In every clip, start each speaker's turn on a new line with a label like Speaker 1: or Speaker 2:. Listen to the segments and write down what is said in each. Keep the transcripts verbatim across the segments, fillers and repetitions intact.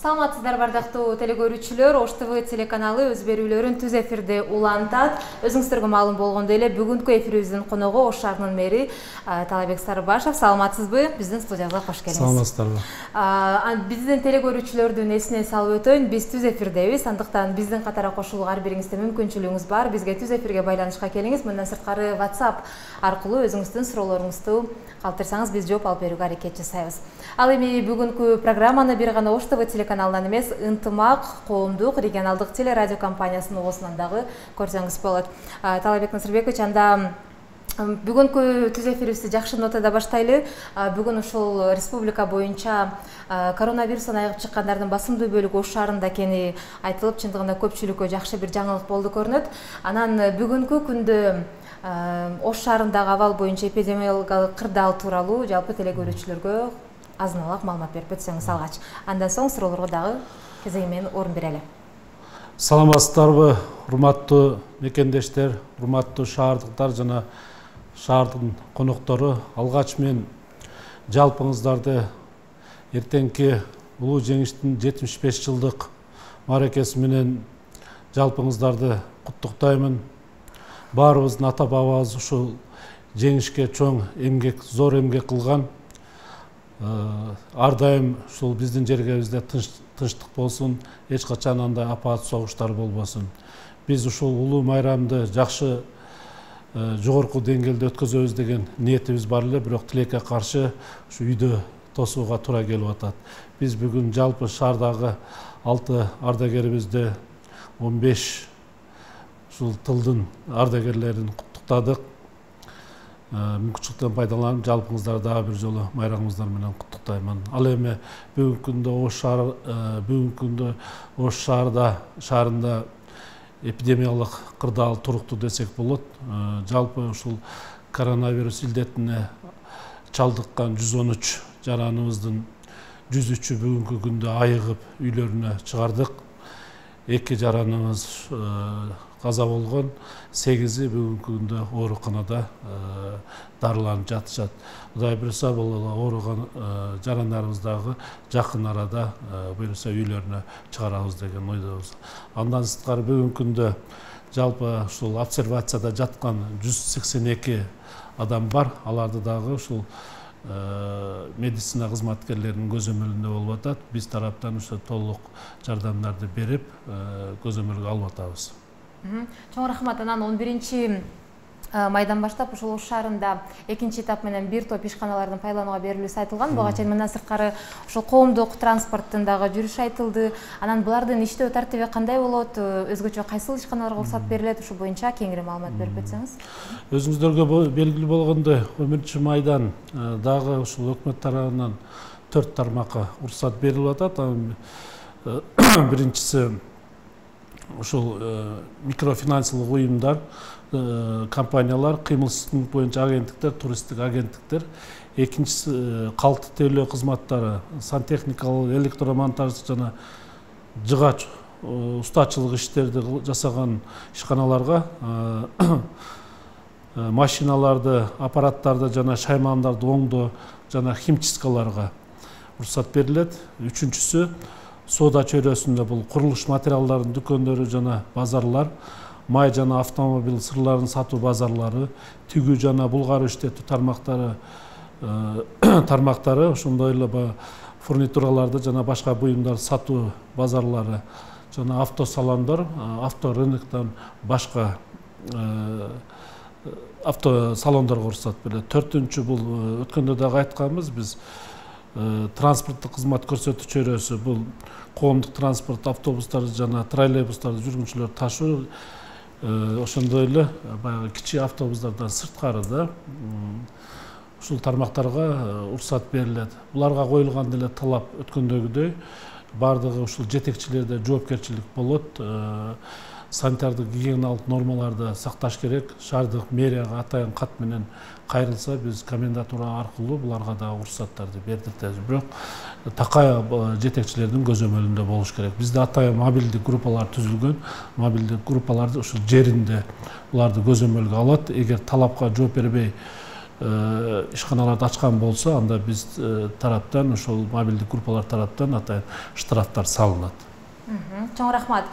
Speaker 1: Саламатсыздар бардактуу телекөрүүчүлөр, Ош ТВ телеканалы өз берүүлөрүн түз эфирде улантат. Өзүңүздөргө маалым болгондой эле бүгүнкү эфирибиздин коногу Ош шаарынын мэри Талайбек Сарыбашев. Саламатсызбы? Биздин студиябызга кош келиңиз.
Speaker 2: Саламатсыздарбы?
Speaker 1: Биздин телекөрүүчүлөрдүн эсине салып өтөйүн, биз түз эфирдебиз. Андыктан биздин катара кошулууга ар бириңизде мүмкүнчүлүгүңүз бар. Бизге түз эфирге байланышка келиңиз. Мындан сырткары WhatsApp аркылуу өзүңүздүн суроолоруңузду калтырсаңыз, биз жооп алып берүүгө аракет жасайбыз. Ал эми бүгүнкү программаны бир гана Ош ТВ телеканалынан эмес, Ынтымак коомдук регионалдык телерадио компаниясынын оосунан дагы көрсөңүз болот. Талайбек Насырбекович, анда бүгүнкү түз эфирибизди жакшы нотада баштайлы. Бүгүн ушул республика боюнча коронавирустан айыгып чыккандардын басымдуу бөлүгү Ош шаарында экени айтылып, чындыгында көпчүлүккө жакшы бир жаңылык болду көрүнөт. Анан бүгүнкү күндө Ош шаарындагы абал боюнча эпидемиологиялык кырдаал тууралуу жалпы телекөрүүчүлөргө азын-алак маалымат берип өтсөңүз алгач. Андан соң суроолорго дагы кезеги менен орун берели.
Speaker 2: Саламатсыздарбы, урматтуу мекендештер, урматтуу шаардыктар жана шаардын коноктору. Алгач мен жалпыңыздарды эртеңки улуу жеңиштин жетимиш беш жылдык мааракеси менен жалпыңыздарды куттуктаймын. Баарыбыздын ата-бабабыз ушул жеңишке чоң эмгек, зор эмгек кылган. Ар дайым ушул биздин жергебизде тынчтык болсун, эч качан андай апаат согуштар болбосун. Биз ушул улуу майрамды жакшы жогорку деңгээлде өткөзөбүз деген ниетибиз бар эле, бирок тилекке каршы ушу үйдө тосууга туура келип атат. Биз бүгүн жалпы шаардагы алты ардагерибизди, он беш ушул тылдын ардагерлерин куттуктадык. Мүмкүнчүлүктөн пайдаланып, жалпыңыздарды дагы бир жолу майрамыңыздар менен куттуктаймын. Ал эми бүгүнкү күндө Ош шаар бүгүнкү күндө Ош шаарда шаарында эпидемиялык кырдаал туруктуу десек болот. Жалпы ушул коронавирус илдетине чалдыккан жүз он үч жараныбыздын жүз үчү бүгүнкү күндө айыгып үйлөрүнө чыгардык. эки жараныбыз каза болгон, сегизи бүгүнкү күндө ооруканада дарыланып жатышат. Кудай буйруса бул ооруган жарандарыбыздагы жакын арада буйруса үйлөрүнө чыгарабыз деген ойдобуз. Андан сырткары бүгүнкү күндө жалпы ушул обсервацияда жаткан жүз сексен эки адам бар. Аларды дагы ушул медицина кызматкерлеринин көзөмөлүндө болуп атат. Биз тараптан ошо толук жардамдарды берип, көзөмөлгө алып атабыз.
Speaker 1: Чоң рахмат. Анан он биринчи майдан баштап ушул Ош шаарында экинчи этап менен бир топ ишканалардын пайдаланууга берилүүсү айтылган. Буга чейин мындан сырткары ушул коомдук транспорттун дагы жүрүшү айтылды. Анан булардын иштөө тартиби кандай болот? Өзгөчө кайсыл ишканаларга уруксат берилет? Ушу боюнча кеңири маалымат берип өтсөңүз.
Speaker 2: Өзүңүздөргө белгилүү болгондой, он биринчи майдан дагы ушул өкмөт тарабынан төрт тармакка уруксат берилип атат. Биринчиси ушул микрофинансылык уюмдар, компаниялар, кыймылсыздык боюнча агенттиктер, туристтик агенттиктер. Экинчиси калкты тейлөө кызматтары, сантехникалык, электромонтаж жана жыгач устачылык иштерди жасаган ишканаларга машиналарды, аппараттарды жана шаймандарды оңдоо жана химчисткаларга уруксат берилет. Үчүнчүсү соода чөйрөсүндө бул курулуш материалдарынын дүкөндөрү жана базарлар, май жана автомобиль сырларын сатуу базарлары, тигүү жана булгар иштетүү тармактары тармактары, ошондой эле фурнитураларды жана башка буюмдар сатуу базарлары жана автосалондор, авторыноктон башка автосалондорго уруксат берилет. Төртүнчү бул өткөндө дагы айтканбыз, биз транспорттук кызмат көрсөтүү чөйрөсү, бул коомдук транспорт, автобустарды жана троллейбустарды жүргүнчүлөр ташуу, ошондой эле баягы кичи автобустардан сырткары да ушул тармактарга уруксат берилет. Буларга коюлган деле талап өткөндөгүдөй бардыгы ушул жетекчилерде жоопкерчилик болот. Санитардык гигиеналык нормаларды сакташ керек. Шаардык мэрияга атайын кат менен кайрылса, биз комендатура аркылуу буларга да уруксаттарды бердиртебиз. Бирок такай жетекчилердин көзөмөлүндө болуш керек. Бизде атайын мобилдик группалар түзүлгөн. Мобилдик группаларды ушул жеринде буларды көзөмөлгө алат. Эгер талапка жооп бербей ишканаларды ачкан болсо, анда биз тараптан, ошол мобилдик группалар тараптан атайын штрафтар салынат.
Speaker 1: Чоң рахмат.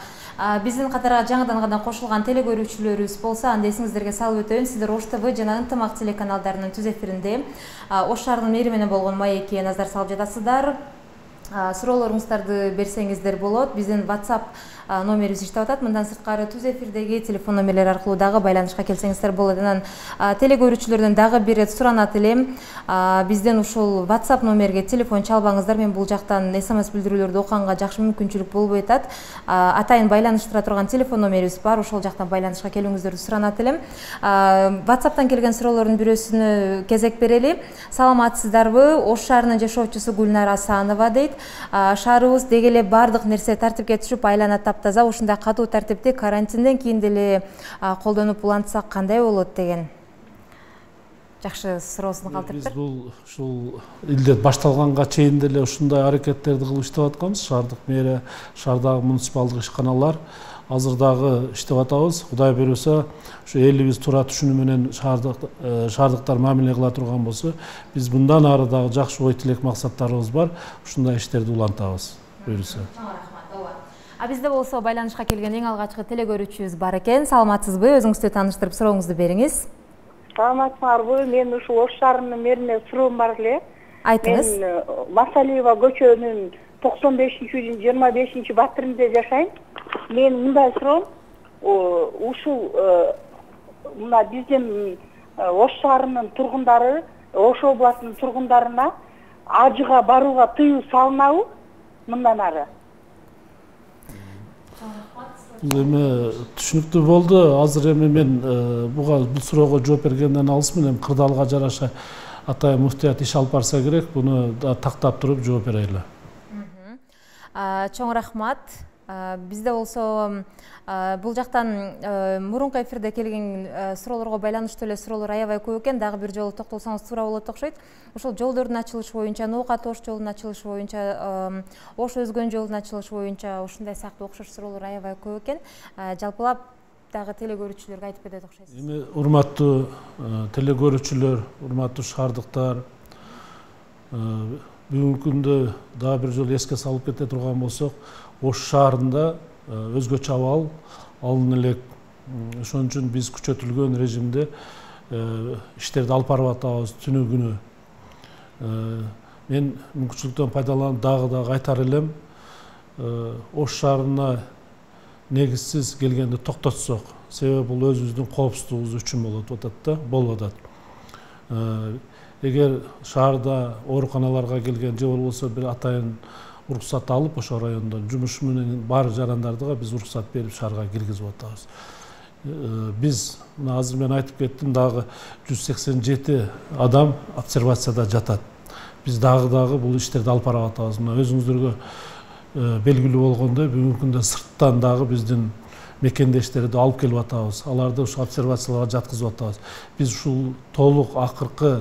Speaker 1: Биздин катарга жаңыдан гана кошулган телекөрүүчүлөрүбүз болсо, анда эсиңиздерге салып өтөйүн. Сиздер Ош ТВ жана Ынтымак телеканалдарынын түз эфиринде Ош шаарынын мэри менен болгон маекке назар салып жатасыздар. Суроолоруңуздарды берсеңиздер болот. Биздин WhatsApp номерибиз иштеп атат. Мындан сырткары түз эфирдеги телефон номерлери аркылуу дагы байланышка келсеңиздер болот. Анан телекөрүүчүлөрдөн дагы бир ирет суранат элем. Бизден ушул WhatsApp номерге телефон чалбаңыздар. Мен бул жактан эс эм эс билдирүүлөрдү окуганга жакшы мүмкүнчүлүк болбой атат. Атайын байланыштыра турган телефон номерибиз бар. Ошол жактан байланышка келүүңүздөрдү суранат элем. WhatsApp'тан келген суроолордун бирөөсүнө кезек берели. Саламатсыздарбы? Ош шаарынын жашоочусу Гүлнара Асанова дейт. Шаарыбыз деги эле бардык нерсе тартипке түшүп, айлана таптаза, ушундай катуу тартипти карантинден кийин деле колдонуп улантсак кандай болот деген жакшы суроосун калтырыптыр.
Speaker 2: Биз бул ушул илдет башталганга чейин деле ушундай аракеттерди кылып иштеп атканбыз. Шаардык мэрия, шаардагы муниципалдык ишканалар азыр дагы иштеп атабыз. Кудай буйруса, ушу элибиз туура түшүнүү менен шаардыктар мамиле кыла турган болсо, биз мындан ары дагы жакшы ой тилек максаттарыбыз бар. Ушундай иштерди улантабыз. Буйруса.
Speaker 1: А бизде болсо байланышка келген эң алгачкы телекөрүүчүбүз бар экен. Саламатсызбы? Өзүңүздү тааныштырып сурооңузду бериңиз.
Speaker 3: Саламатсыңарбы? Мен ушул Ош шаарынын мэрине суроом бар эле.
Speaker 1: Айтыңыз.
Speaker 3: Мен Масалиева көчөнүн токсон бешинчи үйдүн жыйырма бешинчи батиринде жашайм. Мен мындай суроом, ушул мына биздин Ош шаарынын тургундары, Ош областынын тургундарына ажыга барууга тыюу салынабы мындан ары?
Speaker 2: Эми түшүнүктүү болду. Азыр эми мен буга бул суроого жооп бергенден алысмын. Эми кырдаалга жараша атайын муфтият иш алып барса керек. Буну тактап туруп жооп берели.
Speaker 1: Чоң рахмат. Бизде болсо бул жактан мурунку эфирде келген суроолорго байланыштуу эле суроолор аябай көп экен. Дагы бир жолу токтолсоңуз туура болот окшойт. Ошол жолдордун ачылышы боюнча, Ноокат Ош жолунун ачылышы боюнча, Ош Өзгөн жолунун ачылышы боюнча ушундай сыяктуу окшош суроолор аябай көп экен. Жалпылап дагы телекөрүүчүлөргө айтып кетет окшойсуз.
Speaker 2: Эми урматтуу телекөрүүчүлөр, урматтуу шаардыктар, бүгүнкү күндө дагы бир жолу эске салып кете турган болсок, Ош шаарында өзгөчө абал алын элек. Ошон үчүн биз күчөтүлгөн режимде иштерди алып барып атабыз түнү күнү. Мен мүмкүнчүлүктөн пайдаланып дагы дагы айтар элем, Ош шаарына негизсиз келгенди токтотсок, себеби бул өзүбүздүн коопсуздугубуз үчүн болуп атат да, болуп атат. Эгер шаарда ооруканаларга келген же болбосо бир атайын уруксат алып, ошо райондо жумуш менен бар жарандардыга биз уруксат берип шаарга киргизип атабыз. Биз азыр мен айтып кеттим, дагы жүз сексен жети адам обсервацияда жатат. Биз дагы дагы бул иштерди алып барып атабыз. Мына өзүңүздөргө белгилүү болгондой, бүгүнкү күндө сырттан дагы биздин мекендештерди алып келип атабыз. Аларды ушу обсервацияларга жаткызып атабыз. Биз ушул толук акыркы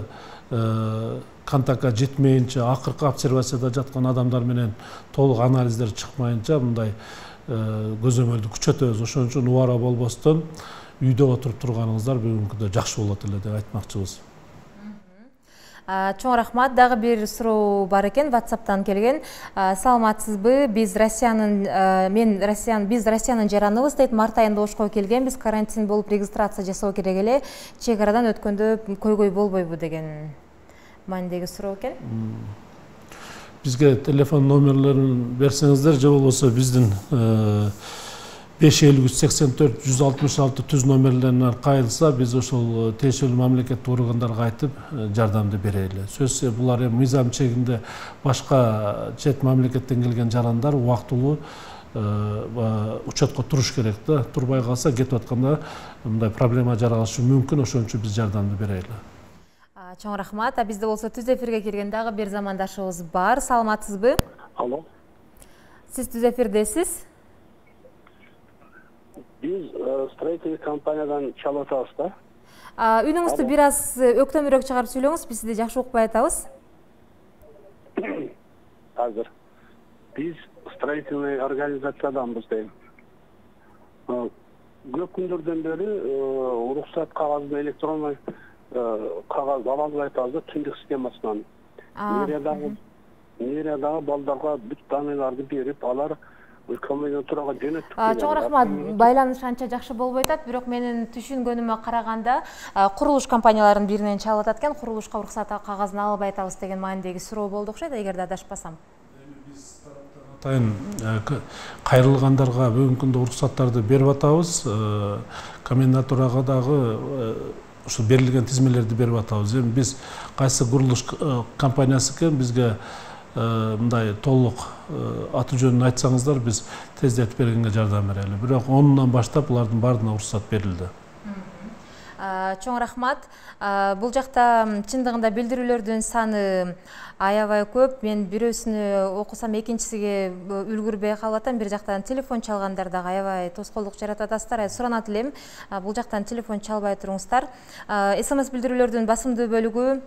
Speaker 2: контактка жетмейинче, акыркы обсервацияда жаткан адамдар менен толук анализдер чыкмайынча мындай көзөмөлдү күчөтөбүз. Ошон үчүн убара болбостон үйдө отуруп турганыңыздар бүгүнкү күндө жакшы болот эле деп айтмакчыбыз.
Speaker 1: Чоң рахмат. Дагы бир суроо бар экен, WhatsApp'тан келген. Саламатсызбы? Биз Россиянын мен Россиянын биз Россиянын жараныбыз дейт. Март айында Ошко келгенбиз. Карантин болуп регистрация жасоо керек эле. Чек арадан өткөндө көйгөй болбойбу деген маанидеги суроо экен.
Speaker 2: Бизге телефон номерлерин берсеңиздер, же болбосо биздин беш элүү үч сексен төрт жүз алтымыш алты түз номерлерине кайрылса, биз ошол тиешелүү мамлекеттик органдарга айтып жардамды берели. Сөзсүз булар эми мыйзам чегинде башка чет мамлекеттен келген жарандар убактылуу учетко туруш керек да. Турбай калса, кетип атканда мындай проблема жаралышы мүмкүн. Ошон үчүн биз жардамды берели.
Speaker 1: Чоң рахмат. А бизде болсо түз эфирге келген дагы бир замандашыбыз бар. Саламатсызбы?
Speaker 4: Алло.
Speaker 1: Сиз түз эфирдесиз?
Speaker 4: Биз строительный компаниядан чалып атабыз да.
Speaker 1: Үнүңүздү бир аз өктөмүрөөк чыгарып сүйлөңүз, биз сизди жакшы укпай атабыз.
Speaker 4: Азыр биз строительный организациyadanбыз дейм. Көп күндөрдөн бери уруксат кагазын электронный кагаз ала албай атабыз да тиндик схемасынан. Мэриядагы мэриядагы балдарга бүт даныйларды берип, алар комендатурага жөнөттүк.
Speaker 1: Чоң рахмат. Байланыш анча жакшы болбой атат, бирок менин түшүнгөнүмө караганда курулуш компанияларынын биринен чалып атат экен, курулушка уруксат кагазын ала албай атабыз деген маанидеги суроо болду окшойт, эгерде адашпасам.
Speaker 2: Биз атайын кайрылгандарга бүгүнкү күндө уруксаттарды берип атабыз. Комендатурага дагы ушул берилген тизмелерди берип атабыз. Эми биз кайсы курулуш компаниясы экен, бизге мындай толук аты жөнүн айтсаңыздар, биз тездетип бергенге жардам берели. Бирок онунан баштап булардын баарына уруксат берилди.
Speaker 1: Чоң рахмат. Бул жакта чындыгында билдирүүлөрдүн саны аябай көп. Мен бирөөсүнү окусам, экинчисиге үлгүрбөй калып атам. Бир жактан телефон чалгандар дагы аябай тоскоолдук жаратып атасыздар. Суранат элем, бул жактан телефон чалбай туруңуздар. СМС билдирүүлөрдүн басымдуу бөлүгү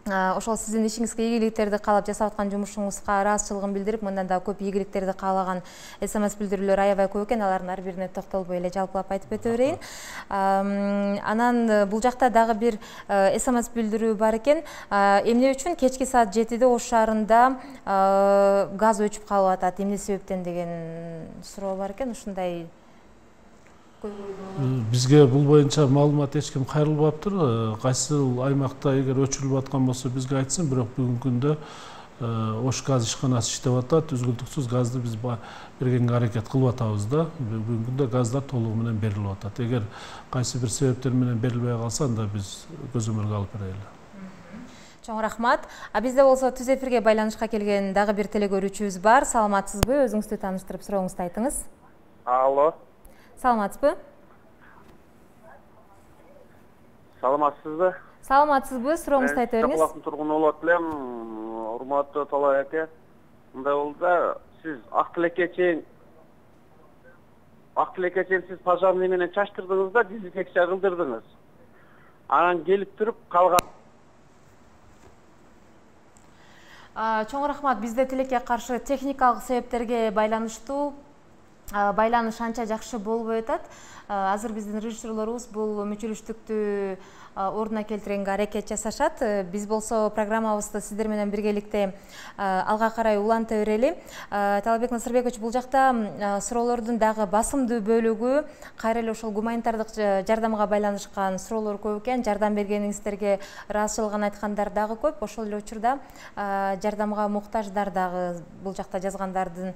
Speaker 1: ошол сиздин ишиңизге ийгиликтерди каалап жасап аткан жумушуңузга ыраазычылыгын билдирип, мындан да көп ийгиликтерди каалаган СМС билдирүүлөр аябай көп экен. Алардын ар бирине токтолбой эле жалпылап айтып өтө берейин. Анан бул жакта дагы бир СМС билдирүү бар экен. Эмне үчүн кечки саат жетиде Ош шаарында газ өчүп калып атат, эмне себептен деген суроо бар экен. Ушундай
Speaker 2: Бизге бул боюнча маалымат эч ким кайрылбаптыр. Кайсы аймакта эгер өчүрүлүп аткан болсо бизге айтсын, бирок бүгүнкү күндө Ош газ ишканасы иштеп атат. Үзгүлтүксүз газды биз бергенге аракет кылып атабыз да. Бүгүнкү күндө газдар толугу менен берилип атат. Эгер кайсы бир себептер менен берилбей калса, анда биз көзөмөлгө алып берели.
Speaker 1: Чоң рахмат. А бизде болсо түз эфирге байланышка келген дагы бир телегөрүүчүбүз бар. Саламатсызбы? Өзүңүздү тааныштырып сурооңузду айтыңыз.
Speaker 4: Алло.
Speaker 1: Саламатсызбы?
Speaker 4: Саламатсызбы?
Speaker 1: Саламатсызбы? Сурооңузду айтып бериңиз.
Speaker 4: Чакалактын тургуну болот элем. Урматтуу Талай аке. Мындай болду да, сиз ак тилекке чейин ак тилекке чейин сиз пожарный менен чачтырдыңыз да, дезинфекция кылдырдыңыз. Анан келип туруп калган.
Speaker 1: Чоң рахмат. Бизде тилекке каршы техникалык себептерге байланыштуу байланыш анча жакшы болбой атат. Азыр биздин режиссерлорубуз бул мүчүлүштүктү ордуна келтиргенге аракет жасашат. Биз болсо программабызды сиздер менен биргеликте алга карай уланта берели. Талабек Насырбекович, бул жакта суроолордун дагы басымдуу бөлүгү кайра эле ошол гуманитардык жардамга байланышкан суроолор көп экен. Жардам бергениңиздерге ыраазычылыгын айткандар дагы көп. Ошол эле учурда жардамга муктаждар дагы бул жакта жазгандардын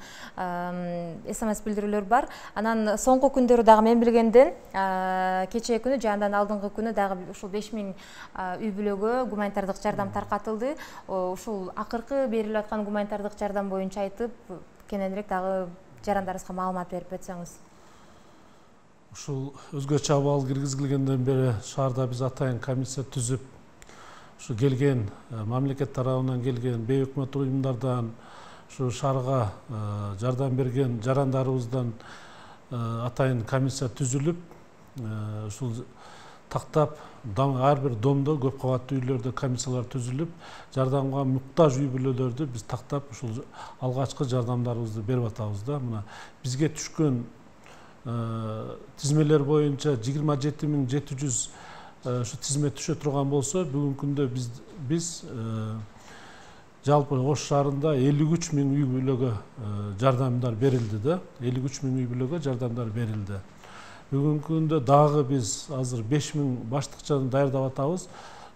Speaker 1: СМС билдирүүлөр бар. Анан соңку күндөрү дагы мен билгенден кечээ күнү же андан алдыңкы күнү дагы ушул беш миң үй бүлөгө гуманитардык жардам таркатылды. Ушул акыркы берилип аткан гуманитардык жардам боюнча айтып, кененирээк дагы жарандарыбызга маалымат берип өтсөңүз.
Speaker 2: Ушул өзгөчө абал киргизилгенден бери шаарда биз атайын комиссия түзүп, ушу келген мамлекет тарабынан келген бейөкмөт уюмдардан, ушу шаарга жардам берген жарандарыбыздан атайын комиссия түзүлүп, ушул тактап ар бир домдо, көп кабаттуу үйлөрдө комиссиялар түзүлүп, жардамга муктаж үй бүлөлөрдү биз тактап ушул алгачкы жардамдарыбызды берип атабыз да. Мына бизге түшкөн тизмелер боюнча жыйырма жети миң жети жүз ушу тизме түшө турган болсо, бүгүнкү күндө биз биз жалпы Ош шаарында элүү үч миң үй бүлөгө жардамдар берилди да. элүү үч миң үй бүлөгө жардамдар берилди. Бүгүнкү күндө дагы биз азыр беш миң баштыкчаны даярдап атабыз.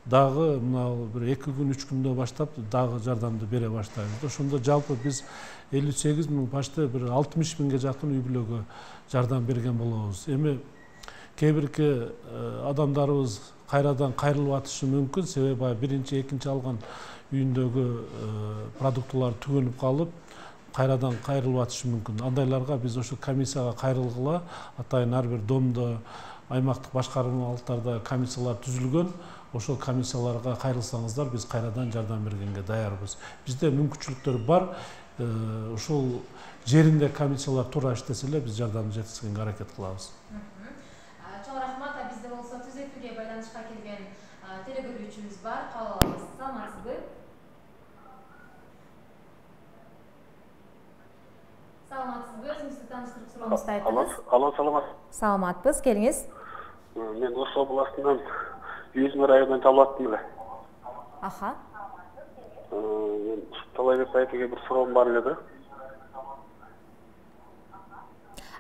Speaker 2: Дагы мына бир эки күн, үч күндө баштап дагы жардамды бере баштайбыз. Ошондо жалпы биз элүү сегиз миң, башта бир алтымыш миңге жакын үй бүлөгө жардам берген болобуз. Эми кээ бирки адамдарыбыз кайрадан кайрылып атышы мүмкүн, себеби биринчи, экинчи алган үйүндөгү продуктылар түгөнүп калып, кайрадан кайрылып атышы мүмкүн. Андайларга биз ошо комиссияга кайрылгыла, атайын ар бир домдо, аймактык башкармалыктарда комиссиялар түзүлгөн. Ошол комиссияларга кайрылсаңыздар, биз кайрадан жардам бергенге даярбыз. Бизде мүмкүнчүлүктөр бар. Ошол жеринде комиссиялар туура иштесе эле биз жардамды жеткизгенге аракет кылабыз.
Speaker 1: Чоң рахмат. Бизде болсо түз эфирге байланышка келген телегөрүүчүбүз бар. Кабыл алабыз. Саламатсызбы? Саламатсызбы? Өзүңүздү тааныштырып сурооңузду айтыңыз.
Speaker 4: Алло, саламат.
Speaker 1: Саламатпыз, келиңиз.
Speaker 4: Мен Ош областынан Юзмир районунан чалып аттым эле.
Speaker 1: Аха.
Speaker 4: Мен Талайбек айкеге бир суроом бар эле да.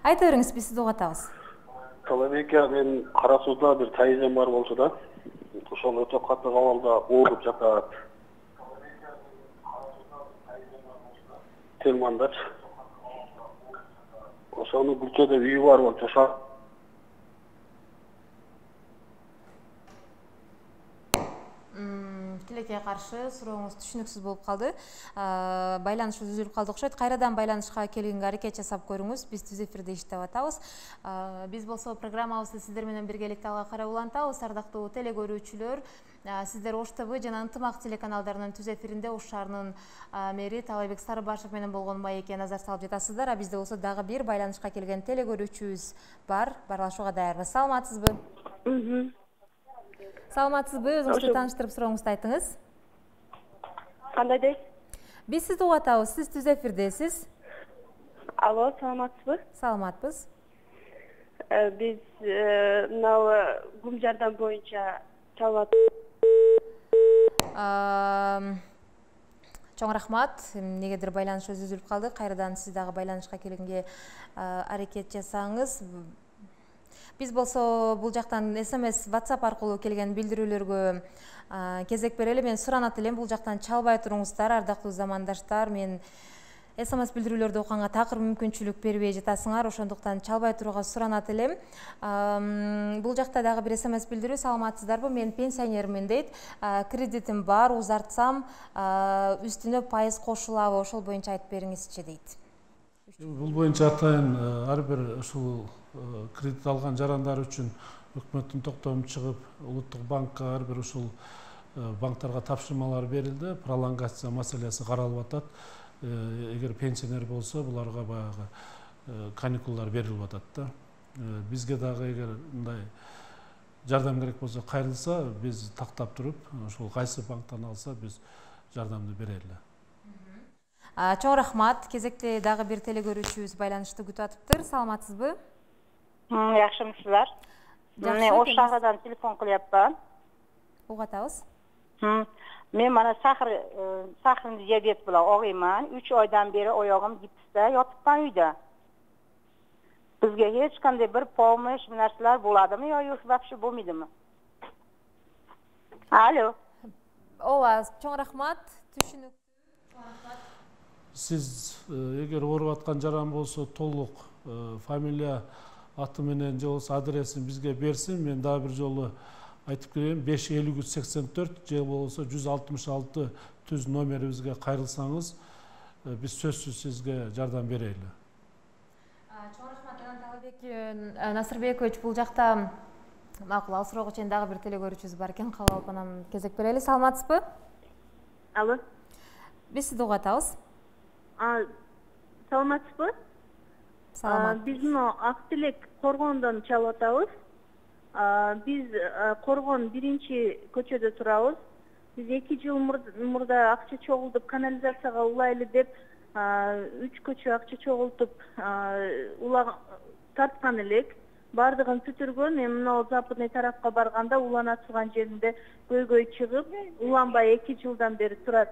Speaker 1: Айта бериңиз, биз сизди угатабыз.
Speaker 4: Талайбек ага, мен Кара Сууда бир тайжам бар болчу да. Ошол өтө катуу кабалда ооруп жатат. Телмандачы. Ошону Гүлчөдө үйү бар болчу. Ошо
Speaker 1: тилекке каршы сурооңуз түшүнүксүз болуп калды. Байланыш үзүлүп калды окшойт. Кайрадан байланышка келгенге аракет жасап көрүңүз. Биз түз эфирде иштеп атабыз. Биз болсо программабызды сиздер менен биргеликте алга карай улантабыз. Ардактуу теле көрүүчүлөр, сиздер Ош ТВ жана Ынтымак телеканалдарынын түз эфиринде Ош шаарынын мэри Талайбек Сарыбашев менен болгон маекке назар салып жатасыздар. А бизде болсо дагы бир байланышка келген теле көрүүчүбүз бар. Барлашууга даярбыз. Саламатсызбы? Саламатсызбы? Өзүңүздү тааныштырып сурооңузду айтыңыз.
Speaker 5: Кандай дейсиз?
Speaker 1: Биз сизди угатабыз. Сиз түз эфирдесиз.
Speaker 5: Алло, саламатсызбы?
Speaker 1: Саламатпыз.
Speaker 5: Биз мынау Гум жардам боюнча чалып
Speaker 1: Чоң рахмат. Негедир байланыш үзүлүп калды. Кайрадан сиз дагы байланышка келгенге аракет жасаңыз. Биз болсо бул жактан эс эм эс, WhatsApp аркылуу келген билдирүүлөргө кезек берели. Мен суранат элем, бул жактан чалбай туруңуздар, ардактуу замандаштар. Мен эс эм эс билдирүүлөрдү окуганга такыр мүмкүнчүлүк бербей жатасыңар, ошондуктан чалбай турууга суранат элем. Бул жакта дагы бир эс эм эс билдирүү. Саламатсыздарбы? Мен пенсионермин дейт. Кредитим бар, узартсам үстүнө пайыз кошулабы? Ошол боюнча айтып бериңизчи дейт.
Speaker 2: Бул боюнча атайын ар бир ушул кредит алган жарандар үчүн өкмөттүн токтому чыгып, улуттук банкка ар бир ушул банктарга тапшырмалар берилди. Пролонгация маселеси каралып атат. Эгер пенсионер болсо, буларга баягы каникулдар берилип атат да. Бизге дагы эгер мындай жардам керек болсо, кайрылса, биз тактап туруп, ошол кайсы банктан алса, биз жардамды берели.
Speaker 1: Чоң рахмат. Кезекте дагы бир теле көрүүчүбүз байланышты күтүп атыптыр. Саламатсызбы?
Speaker 5: Жакшымысыздар? Мен Ош шаарынан телефон кылыпмын.
Speaker 1: Угатабыз.
Speaker 5: Мен мана сахар сахарный диабет менен огуйман. үч айдан бери оягым гипсте жатыптан үйдө. Бизге эч кандай бир помощь нерселер буладымы, yo вообще болмойдуму? Алло.
Speaker 1: Ооба, чоң рахмат. Түшүнүктүү.
Speaker 2: Сиз эгер ооруп аткан жаран болсо, толук фамилия, аты менен же болбосо адресин бизге берсин. Мен дагы бир жолу айтып кетейин, беш элүү үч сексен төрт же болбосо жүз алтымыш алты түз номерибизге кайрылсаңыз, биз сөзсүз сизге жардам берели.
Speaker 1: Чоң рахмат. Талайбек Насырбекович, бул жакта макул, ал суроого чейин дагы бир теле көрүүчүбүз бар экен. Кабыл алып анан кезек берели. Саламатсызбы?
Speaker 5: Алло.
Speaker 1: Биз сизди угатабыз.
Speaker 5: Саламатсызбы?
Speaker 1: Саламат.
Speaker 5: Биз мына Актилек Коргондон чалып атабыз. Биз Коргон биринчи көчөдө турабыз. Биз эки жыл мурда акча чогултуп канализацияга улайлы деп үч көчө акча чогултуп улаг тарткан элек. Бардыгын бүтүргөн. Мен мына западный тарапка барганда уланатылган жеринде көйгөй чыгып, уланбай эки жылдан бери турат.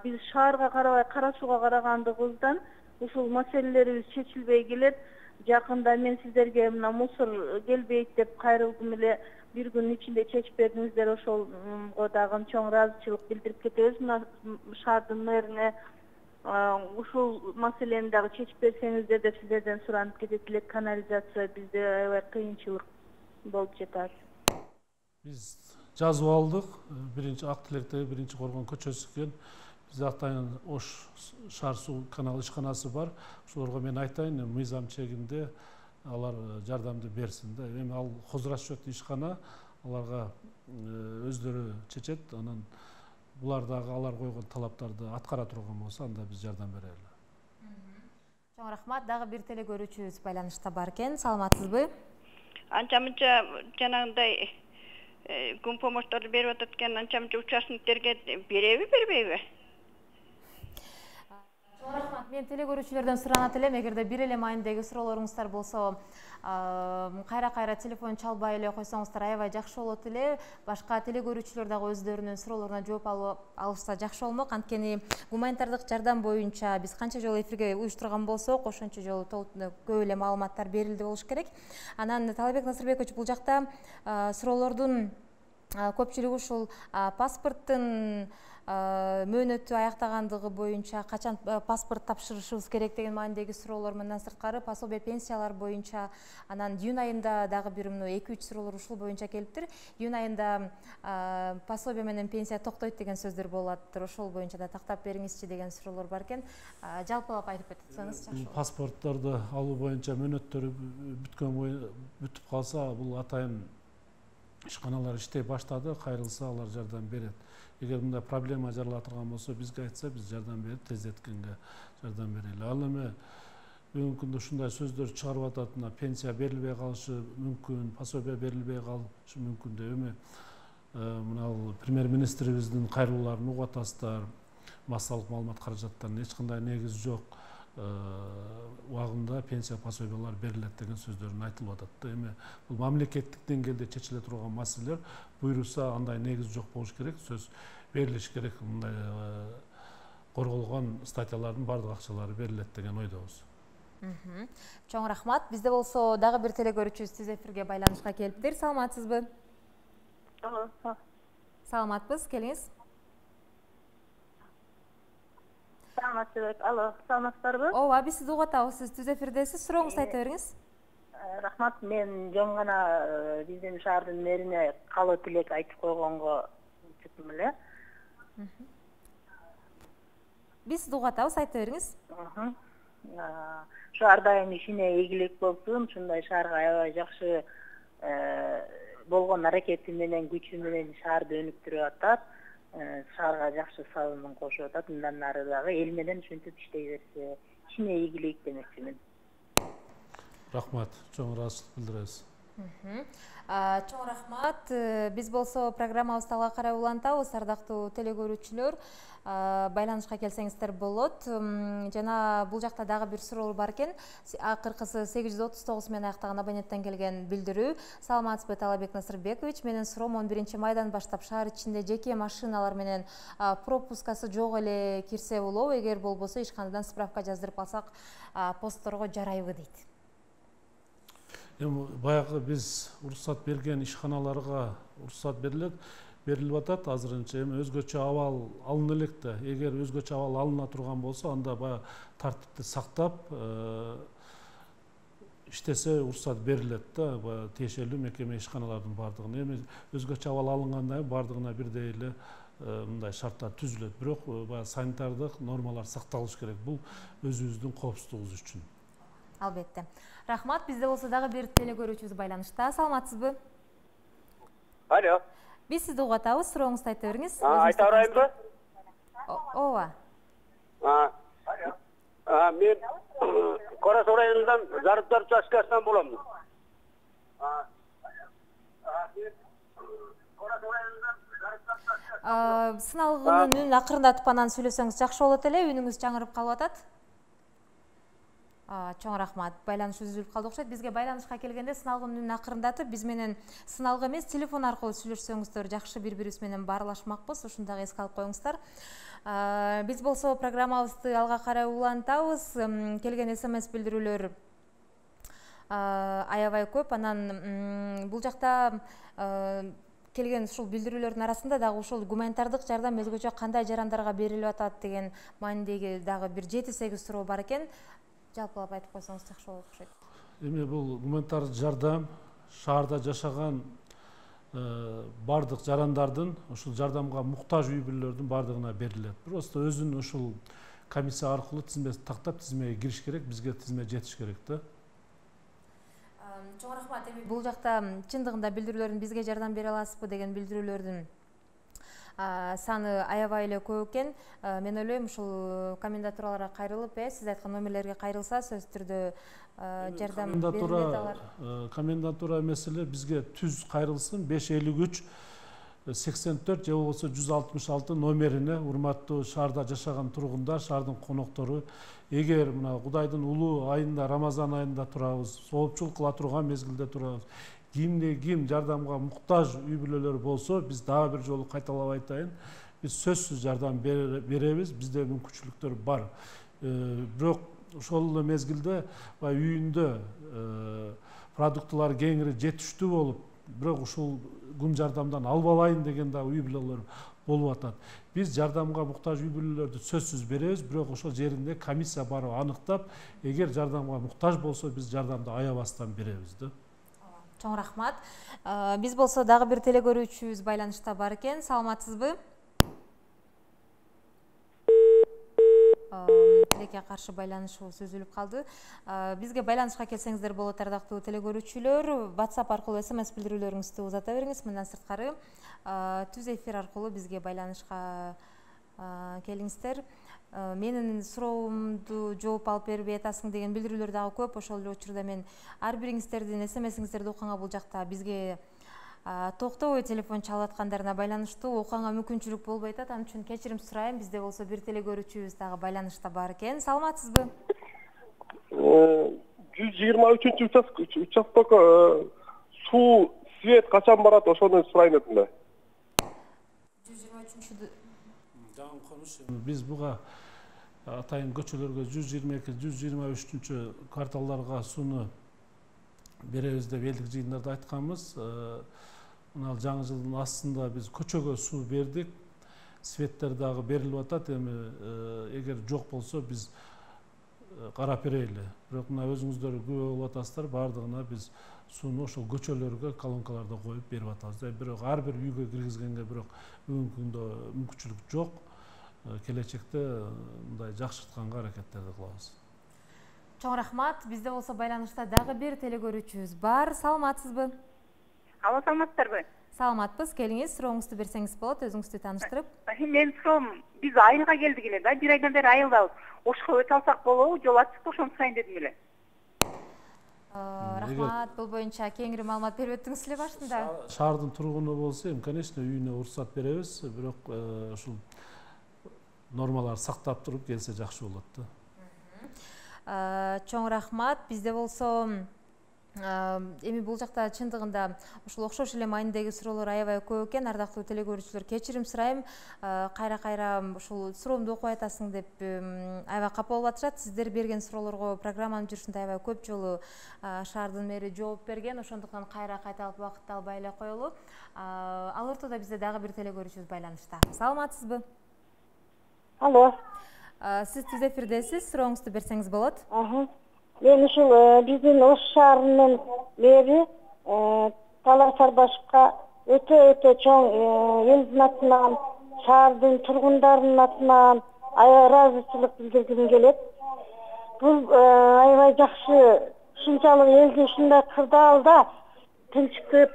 Speaker 5: Биз шаарга карабай Кара Сууга карагандыгыбыздан ушул маселелерибиз чечилбей келет. Жакында мен сиздерге мына мусор келбейт деп кайрылдым эле. Бир күнүн ичинде чечип бердиңиздер. Ошолго дагы чоң ыраазычылык билдирип кетебиз. Мына шаардын мэрине ушул маселени дагы чечип берсеңиздер деп сиздерден суранып кетет элек. Канализация бизде аябай кыйынчылык болуп жатат.
Speaker 2: Биз жазып алдык. Биринчи Актилектеги биринчи Коргон көчөсү экен. Биз атайын Ош шаар суу канал ишканасы бар. Ошолорго мен айтайын, мыйзам чегинде алар жардамды берсин да. Эми ал хозрасчет ишкана, аларга өздөрү чечет. Анан булар дагы алар койгон талаптарды аткара турган болсо, анда биз жардам берели.
Speaker 1: Чоң рахмат. Дагы бир теле көрүүчүбүз байланышта бар экен. Саламатсызбы?
Speaker 6: Анча-мынча жанагындай күн помощторду берип атат экен, анча-мынча участниктерге береби, бербейби?
Speaker 1: Чоң рахмат. Мен теле көрүүчүлөрдөн суранат элем, эгерде бир эле маанидеги суроолоруңуздар болсо, кайра-кайра телефон чалбай эле койсоңуздар аябай жакшы болот эле. Башка теле көрүүчүлөр дагы өздөрүнүн суроолоруна жооп алышса жакшы болмок. Анткени гуманитардык жардам боюнча биз канча жолу эфирге уюштурган болсок, ошончо жолу көп эле маалыматтар берилди болуш керек. Анан Талабек Насырбекович, бул жакта суроолордун көпчүлүгү ушул паспорттун мөөнөтү аяктагандыгы боюнча качан паспорт тапшырышыбыз керек деген маанидеги суроолор, мындан сырткары пособие пенсиялар боюнча, анан июнь айында дагы бир эки үч суроолор ушул боюнча келиптир. Июнь айында пособие менен пенсия токтойт деген сөздөр болуптыр. Ошол боюнча да тактап бериңизчи деген суроолор бар экен. Жалпылап айтып кетсеңиз жакшы болот.
Speaker 2: Паспортторду алуу боюнча мөөнөттөрү бүткөн бүтүп калса, бул атайын ишканалар иштей баштады, кайрылса алар жардам берет. Эгер мындай проблема жарала турган болсо, бизге айтса, биз жардам берип, тездеткенге жардам берели. Ал эми бүгүнкү күндө ушундай сөздөр чыгарып атат, мына пенсия берилбей калышы мүмкүн, пособие берилбей калышы мүмкүн деп. Эми мына премьер-министрибиздин кайрылууларын угуп атасыздар. Массалык маалымат каражаттарынын эч кандай негизи жок. Убагында пенсия пособиялар берилет деген сөздөрүн айтылып атат. Эми бул мамлекеттик деңгээлде чечиле турган маселелер, буйруса андай негиз жок болуш керек, сөз берилиш керек. Мындай корголгон статьялардын бардык акчалары берилет деген ойдобуз.
Speaker 1: Чоң рахмат. Бизде болсо дагы бир теле көрүүчүбүз түз эфирге байланышка келиптир. Саламатсызбы?
Speaker 5: Алло.
Speaker 1: Саламатпыз, келиңиз.
Speaker 5: Саламатсызбы? Алло, саламатсыздарбы?
Speaker 1: Ооба, биз сизди угуп атабыз. Сиз түз эфирдесиз. Сурооңузду айта бериңиз.
Speaker 5: Рахмат, мен жөн гана биздин шаардын мэрине каалоо тилек айтып койгонго чыктым эле.
Speaker 1: Биз сизди угуп атабыз, айта бериңиз.
Speaker 5: Ушу ар дайым ишине ийгилик болсун, ушундай шаарга аябай жакшы болгон аракети менен, күчү менен шаарды өнүктүрүп атат. Шаарга жакшы салымын кошуп атат. Мындан ары дагы эл менен ушинтип иштей берсе, ишине ийгилик демекчимин.
Speaker 2: Рахмат, чоң ыраазычылык билдиребиз.
Speaker 1: Чоң рахмат. Биз болсо программабызды алга карай улантабыз. Ардактуу теле көрүүчүлөр, байланышка келсеңиздер болот. Жана бул жакта дагы бир суроо бар экен. Акыркысы сегиз жүз отуз тогуз менен аяктаган абоненттен келген билдирүү. Саламатсызбы, Талабек Насырбекович? Менин суроом он биринчи майдан баштап шаар ичинде жеке машиналар менен пропускасы жок эле кирсе болобу? Эгер болбосо, ишканадан справка жаздырып алсак, постторго жарайбы дейт.
Speaker 2: Эми баягы биз уруксат берген ишканаларга уруксат берилет, берилип атат азырынча. Эми өзгөчө абал алына элек да. Эгер өзгөчө абал алына турган болсо, анда баягы тартипти сактап иштесе уруксат берилет да, баягы тиешелүү мекеме ишканалардын бардыгына. Эми өзгөчө абал алынгандан бардыгына бирдей эле мындай шарттар түзүлөт. Бирок баягы санитардык нормалар сакталыш керек. Бул өзүбүздүн коопсуздугубуз үчүн.
Speaker 1: Албетте. Рахмат. Бизде болсо дагы бир теле көрүүчүбүз байланышта. Саламатсызбы?
Speaker 7: Алло.
Speaker 1: Биз сизди угуп атабыз. Сурооңузду айта бериңиз.
Speaker 7: Айта берайынбы?
Speaker 1: Ооба.
Speaker 7: Мен Корос районунан Зарыптар участкасынан болом.
Speaker 1: Сыналгынын үнүн акырындатып анан сүйлөсөңүз жакшы болот эле. Үнүңүз жаңырып калып атат. Чоң рахмат. Байланыш үзүлүп калды окшойт. Бизге байланышка келгенде сыналгынын үнүн акырындатып, биз менен сыналгы эмес, телефон аркылуу сүйлөшсөңүздөр жакшы, бири-бирибиз менен баарлашмакпыз. Ушуну дагы эске алып коюңуздар. Биз болсо программабызды алга карай улантабыз. Келген смс билдирүүлөр аябай көп. Анан бул жакта келген ушул билдирүүлөрдүн арасында дагы ушул гуманитардык жардам өзгөчө кандай жарандарга берилип атат деген маанидеги дагы бир жети сегиз суроо бар экен. Жалпылап айтып койсоңуз жакшы болот окшойт.
Speaker 2: Эми бул гуманитардык жардам шаарда жашаган бардык жарандардын, ушул жардамга муктаж үй бүлөлөрдүн бардыгына берилет. Просто өзүнүн ушул комиссия аркылуу тизмеси тактап тизмеге кириш керек, бизге тизме жетиш керек да.
Speaker 1: Чоң рахмат. Эми бул жакта чындыгында билдирүүлөрдүн бизге жардам бере аласызбы деген билдирүүлөрдүн саны аябай эле көп экен. Мен ойлойм, ушул комендатураларга кайрылып, э, сиз айткан номерлерге кайрылса, сөзсүз түрдө жардам берилет алар.
Speaker 2: Комендатура эмес эле бизге түз кайрылсын, беш элүү үч сексен төрт же болбосо жүз алтымыш алты номерине урматтуу шаарда жашаган тургундар, шаардын коноктору, эгер мына Кудайдын улуу айында, Рамазан айында турабыз, соопчулук кыла турган мезгилде турабыз, кимде ким жардамга муктаж үй бүлөлөр болсо, биз дагы бир жолу кайталап айтайын, биз сөзсүз жардам беребиз, бизде мүмкүнчүлүктөр бар. Бирок ошол эле мезгилде үйүндө продуктылар кеңири жетиштүү болуп, бирок ушул күн жардамдан албалайын деген да үй бүлөлөр болуп атат. Биз жардамга муктаж үй бүлөлөрдү сөзсүз беребиз, бирок ошол жеринде комиссия барып аныктап, эгер жардамга муктаж болсо, биз жардамды аябастан беребиз да.
Speaker 1: Чоң рахмат. Биз болсо дагы бир телекөрүүчүбүз байланышта бар экен. Саламатсызбы? Тилекке каршы байланышыбыз үзүлүп калды. Бизге байланышка келсеңиздер болот, ардактуу телекөрүүчүлөр. WhatsApp аркылуу смс билдирүүлөрүңүздү узата бериңиз. Мындан сырткары түз эфир аркылуу бизге байланышка келиңиздер. Менин суроомду жооп алып бербей атасың деген билдирүүлөр дагы көп. Ошол эле учурда мен ар бириңиздердин смсиңиздерди окуганга бул жакта бизге токтобой телефон чалып аткандарына байланыштуу окуганга мүмкүнчүлүк болбой атат. Ал үчүн кечирим сурайм. Бизде болсо бир телекөрүүчүбүз дагы байланышта бар экен. Саламатсызбы?
Speaker 8: жүз жыйырма үчүнчү участок суу, свет качан барат, ошону сурайм этим да.
Speaker 1: жүз жыйырма үчүнчү
Speaker 2: Биз буга атайын көчөлөргө жүз жыйырма эки жүз жыйырма үчүнчү кварталдарга сууну беребиз деп элдик жыйындарда айтканбыз. Мына жаңы жылдын астында биз көчөгө суу бердик. Светтер дагы берилип атат. Эми эгер жок болсо биз карап берели. Бирок мына өзүңүздөр күбө болуп атасыздар, бардыгына биз сууну ошол көчөлөргө колонкаларда коюп берип атабыз. Бирок ар бир үйгө киргизгенге бирок бүгүнкү күндө мүмкүнчүлүк жок. Келечекте мындай жакшыртканга аракеттерди кылабыз.
Speaker 1: Чоң рахмат. Бизде болсо байланышта дагы бир телекөрүүчүбүз бар. Саламатсызбы?
Speaker 3: Алло, саламатсыздарбы?
Speaker 1: Саламатпыз. Келиңиз, сурооңузду берсеңиз болот, өзүңүздү тааныштырып.
Speaker 3: Мен суроом, биз айылга келдик эле да, бир айдан бери айылдабыз. Ошко өтө алсак болобу, жол ачык, ошону сурайын дедим эле.
Speaker 1: Рахмат. Бул боюнча кеңири маалымат берип өттүңүз эле башында.
Speaker 2: Шаардын тургуну болсо, эми конечно үйүнө уруксат беребиз, бирок ушул нормалар сактап туруп келсе жакшы болот да.
Speaker 1: Чоң рахмат. Бизде болсо эми бул жакта чындыгында ушул окшош эле маанидеги суроолор аябай көп экен. Ардактуу телекөрүүчүлөр, кечирим сурайм. Кайра-кайра ушул суроомду окуй атасың деп аябай капа болуп атышат. Сиздер берген суроолорго программанын жүрүшүндө аябай көп жолу шаардын мэри жооп берген. Ошондуктан кайра кайталап убакытты албай эле коелу. Ал ортодо бизде дагы бир телекөрүүчүбүз байланышта. Саламатсызбы?
Speaker 3: Алло.
Speaker 1: Сиз түз эфирдесиз, сурооңузду берсеңиз болот.
Speaker 3: Мен ушул биздин Ош шаарынын мэри Талай Сарбашевка өтө өтө чоң элдин атынан, шаардын тургундарынын атынан аябай ыраазычылык билдиргим келет. Бул аябай жакшы, ушунчалык элди ушундай кырдаалда тынчтып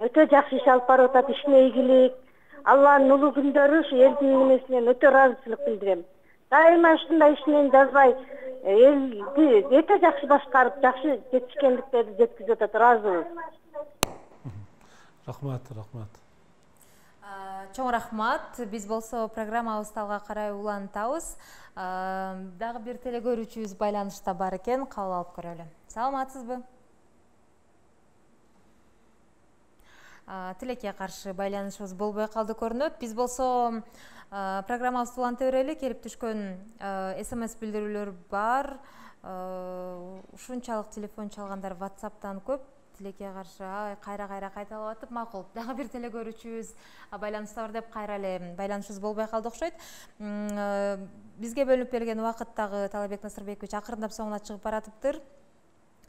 Speaker 3: өтө жакшы иш алып барып атат, ишине ийгилик. Алланын улуу күндөрү ушу элдин эмесинен өтө ыраазычылык билдирем. Дайыма ушундай ишинен жазбай элди өтө жакшы башкарып, жакшы жетишкендиктерди жеткизип атат. Ыраазыбыз.
Speaker 2: Рахмат, рахмат.
Speaker 1: Чоң рахмат. Биз болсо программабызды алга карай улантабыз. Дагы бир телекөрүүчүбүз байланышта бар экен, кабыл алып көрөлү. Саламатсызбы? Тилекке каршы байланышыбыз болбой калды көрүнөт. Биз болсо программабызды уланта берели. Келип түшкөн смс билдирүүлөр бар. Ушунчалык телефон чалгандар WhatsApp'тан көп. Тилекке каршы кайра-кайра кайталап атып, макул. Дагы бир телекөрүүчүбүз байланышта бар деп кайра эле байланышыбыз болбой калды окшойт. Бизге бөлүнүп берген убакыт дагы Талабек Насырбекович акырындап соңуна чыгып баратыптыр.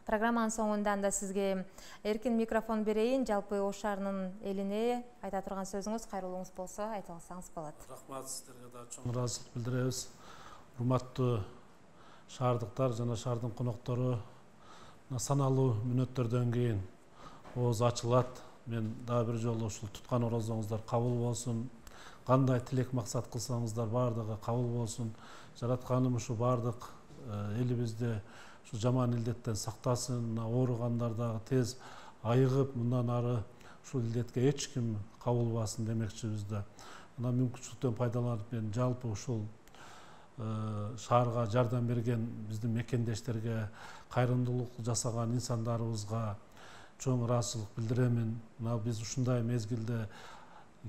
Speaker 1: Программанын соңунда да сизге эркин микрофон берейин. Жалпы Ош шаарынын элине айта турган сөзүңүз, кайрылууңуз болсо айта алсаңыз болот.
Speaker 2: Рахмат, сиздерге да чоң ыраазычылык билдиребиз. Урматтуу шаардыктар жана шаардын коноктору, саналуу мүнөттөрдөн кийин ооз ачылат. Мен дагы бир жолу ушул туткан орозоңуздар кабыл болсун. Кандай тилек максат кылсаңыздар бардыгы кабыл болсун. Жаратканым ушу бардык элибизде ушу жаман илдеттен сактасын, ооругандар дагы тез айыгып, мындан ары ушул илдетке эч ким кабылбасын демекчибиз да. Мына мүмкүнчүлүктөн пайдаланып мен жалпы ушул шаарга жардам берген биздин мекендештерге, кайрымдуулук жасаган инсандарыбызга чоң ыраазычылык билдиремин. Мына биз ушундай мезгилде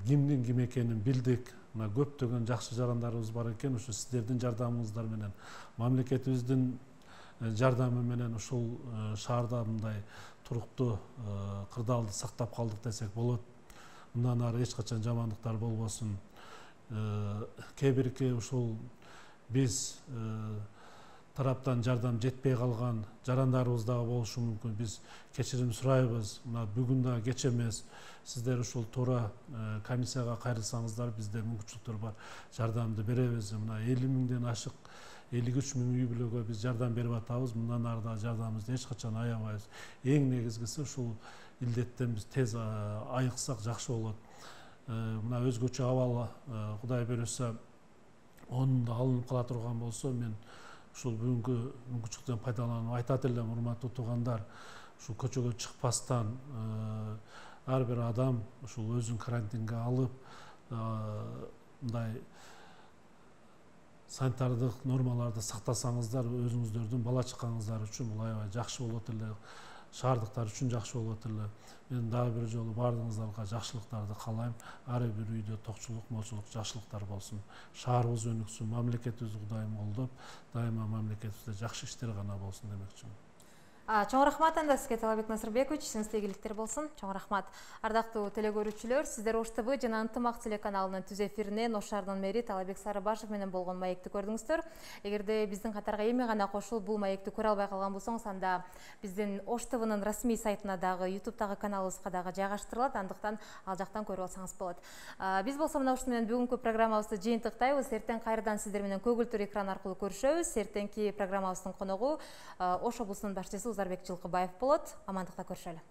Speaker 2: кимдин ким экенин билдик. Мына көптөгөн жакшы жарандарыбыз бар экен. Ушу сиздердин жардамыңыздар менен, мамлекетибиздин жардамы менен ушул шаарда мындай туруктуу кырдаалды сактап калдык десек болот. Мындан ары эч качан жамандыктар болбосун. Кээ бирки ушул биз тараптан жардам жетпей калган жарандарыбыз дагы болушу мүмкүн. Биз кечирим сурайбыз. Мына бүгүн да кеч эмес. Сиздер ушул туура комиссияга кайрылсаңыздар, бизде мүмкүнчүлүктөр бар. Жардамды беребиз. Мына элүү миңден ашык, элүү үч миң үй бүлөгө биз жардам берип атабыз. Мындан ары да жардамыбызды эч качан аябайбыз. Эң негизгиси ушул илдеттен биз тез айыксак жакшы болот. Мына өзгөчө абал Кудай буйруса онун да алынып кала турган болсо, мен ушул бүгүнкү мүмкүнчүлүктөн пайдаланып айтат элем, урматтуу туугандар, ушул көчөгө чыкпастан ар бир адам ушул өзүн карантинге алып, мындай санитардык нормаларды сактасаңыздар, өзүңүздөрдүн бала чакаңыздар үчүн бул аябай жакшы болот эле, шаардыктар үчүн жакшы болот эле. Мен дагы бир жолу баардыгыңыздарга жакшылыктарды каалайм. Ар бир үйдө токчулук, молчулук, жакшылыктар болсун. Шаарыбыз өнүксүн, мамлекетибизди Кудайым колдоп, дайыма мамлекетибизде жакшы иштер гана болсун демекчимин.
Speaker 1: Чоң рахмат анда сизге, Талабек Насырбекович, исиңизде ийгиликтер болсун. Чоң рахмат. Ардактуу телекөрүүчүлөр, сиздер Ош ТВ жана Ынтымак телеканалынын түз эфиринен Ош шаарынын мэри Талабек Сарыбашев менен болгон маекти көрдүңүздөр. Эгерде биздин катарга эми гана кошулуп бул маекти көрө албай калган болсоңуз, анда биздин Ош ТВнын расмий сайтына дагы, ютубтагы каналыбызга дагы жайгаштырылат, андыктан ал жактан көрүп алсаңыз болот. Биз болсо мына ушуну менен бүгүнкү программабызды жыйынтыктайбыз. Эртең кайрадан сиздер менен көгүлтүр экран аркылуу көрүшөбүз. Эртеңки программабыздын коногу Ош облусунун башчысы Узарбек Жылкыбаев болот. Амандыкта көрүшөлү.